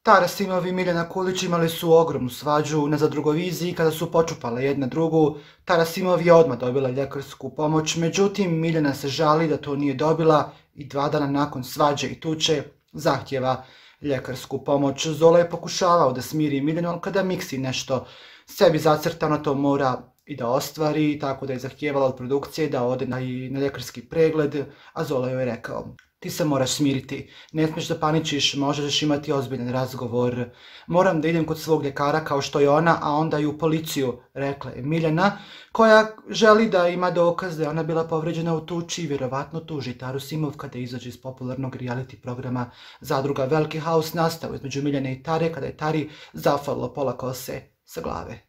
Tara Simov i Miljana Kulić imali su ogromnu svađu na Zadrugoviziji kada su počupale jedna drugu. Tara Simov je odmah dobila ljekarsku pomoć, međutim Miljana se žali da to nije dobila i 2 dana nakon svađe i tuče zahtjeva ljekarsku pomoć. Zola je pokušavao da smiri Miljanu, ali kada Miksi nešto sebi zacrtano to mora i da ostvari, tako da je zahtijevala od produkcije da ode na ljekarski pregled, a Zola joj je rekao: ti se moraš smiriti, ne smiješ da paničiš, možeš imati ozbiljan razgovor. Moram da idem kod svog ljekara kao što je ona, a onda i u policiju, rekla je Miljana, koja želi da ima dokaz da je ona bila povređena u tuči i vjerovatno tuži Taru Simov kada izađe iz popularnog reality programa Zadruga. Veliki haos nastao između Miljane i Tare kada je Tari zafalilo pola kose sa glave.